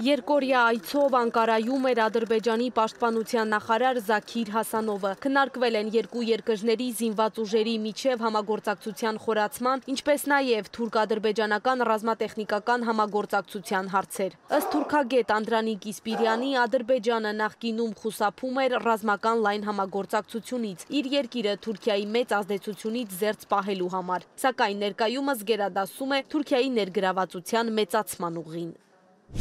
Երկորյա այցով Անկարայում էր Ադրբեջանի պաշտպանության նախարար Զաքիր Հասանովը։ Քննարկվել են երկու երկրների զինված ուժերի միջև համագործակցության խորացման, ինչպես նաև թուրք-ադրբեջանական ռազմատեխնիկական համագործակցության հարցեր։ Ըստ թուրքագետ Անդրանիկ Իսպիրյանի, Ադրբեջանը նախկինում խուսափում էր ռազմական լայն համագործակցությունից, իր երկիրը Թուրքիայի մեծ ազդեցությունից զերծ պահելու համար, սակայն ներկայումս գերադասում է Թուրքիայի ներգրավվածության մեծացման ուղին։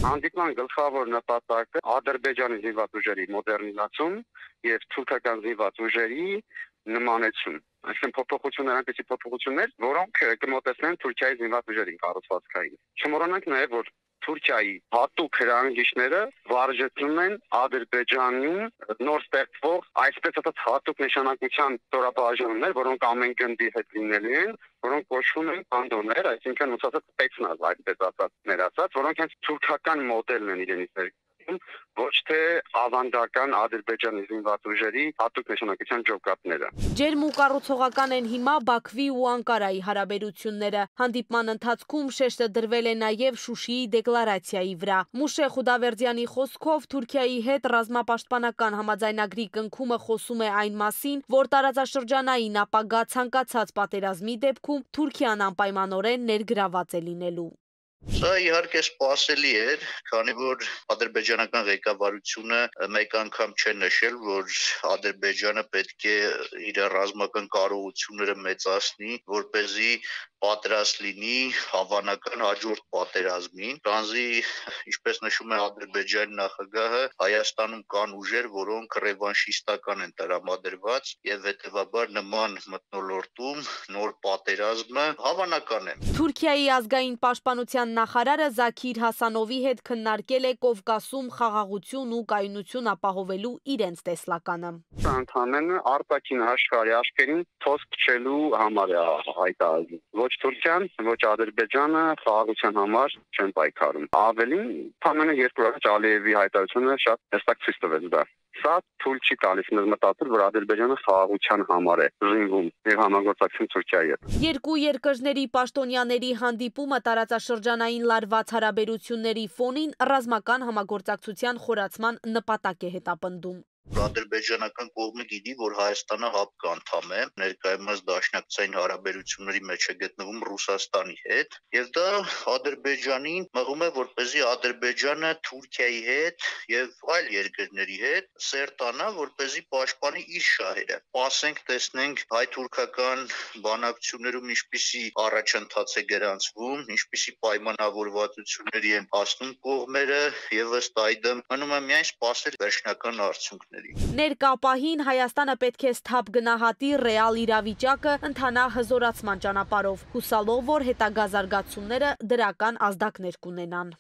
Հանդիպման գլխավոր նպատակը Ադրբեջանի զինված ուժերի մոդեռնիզացում եւ թուրքական զինված ուժերի նմանեցում։ Այսինքն փոփոխություններ, այնպիսի փոփոխություններ, որոնք կմոտեցնեն Թուրքիայի զինված ուժերին կառուցվածքային։ Չմոռանանք նաեւ, որ Թուրքիայի հատուկ հրանգիչները վարժեցնում են Ադրբեջանում նոր ստեղծվող այսպես ասած հատուկ նշանակության ստորաբաժանումներ, որոնք ամեն գնդի հետ լինելու են, որոնք կոչվում են բանդոներ, այսինքն ուսած սպեցնազ, այսպես ասած, որոնք հենց թուրքական մոդելն են իրենից ներկայացնում, ոչ թե ավանդական Ադրբեջանի զինված ուժերի հատուկ նշանակության ջոկատները։ Ջերմ ու կառուցողական են հիմա Բաքվի ու Անկարայի հարաբերությունները։ Հանդիպման ընթացքում շեշտը դրվել է նաև Շուշիի դեկլարացիայի վրա։ Մուշե Խուդավերդյանի խոսքով Թուրքիայի հետ ռազմապաշտպանական համաձայնագրի կնքումը խոսում է այն մասին, որ տարածաշրջանային ապագա ցանկացած պատերազմի դեպքում Թուրքիան անպայմանորեն ներգրաված է լինելու։ Սա իհարկե սպասելի էր, քանի որ ադրբեջանական ղեկավարությունը մեկ անգամ չէ նշել, որ Ադրբեջանը պետք է իր ռազմական կարողությունները մեծացնի, որպեսզի պատրաստ լինի հավանական հաջորդ պատերազմին, քանզի ինչպես նշում է Ադրբեջանի նախագահը, Հայաստանում կան ուժեր, որոնք ռևանշիստական են տրամադրված եւ հետեւաբար նման մթնոլորտում նոր պատերազմը հավանական է։ Թուրքիայի ազգային պաշտպանության նախարարը Զաքիր Հասանովի հետ քննարկել է Կովկասում խաղաղություն ու կայունություն ապահովելու իրենց տեսլականը։ Սա ընդհանրապես արտաքին աշխարհի աշխերին թոսկ քչելու համար է հայտարարում։ Ոչ Թուրքիան, ոչ Ադրբեջանը խաղաղության համար չեն պայքարում։ Ավելին, ընդհանրապես երկու անգամ Ալիևի հայտարարությունը շատ հստակ ցույց տվեց դա։ Սա թույլ չի տալիս մեզ մտածել, որ Ադրբեջանը խաղաղության համար է զինվում եւ համագործակցում Թուրքիայի հետ։ Երկու երկրների պաշտոնյաների հանդիպումը տարածաշրջանային լարված հարաբերությունների ֆոնին ռազմական համագործակցության խորացման նպատակ է հետապնդում։ Ադրբեջանական կողմը գիտի, որ Հայաստանը ՀԱՊԿ անդամ է, ներկայումս դաշնակցային հարաբերությունների մեջ է գտնվում Ռուսաստանի հետ, եւ դա Ադրբեջանին մղում է, որպեսզի Ադրբեջանը Թուրքիայի հետ եւ այլ երկրների հետ սերտանա, որպեսզի պաշտպանի իր շահերը։ Ասենք, տեսնենք հայ-թուրքական բանակցություններում ինչպիսի առաջընթաց է գրանցվում, ինչպիսի պայմանավորվածությունների են հասնում կողմերը, եւ ըստ այդմ մնում է միայն սպասել վերջնական արդյունքների։ Ներկա պահին Հայաստանը պետք է սթափ գնահատի ռեալ իրավիճակը, ընթանա հզորացման ճանապարհով, հուսալով, որ հետագա զարգացումները դրական ազդակներ կունենան։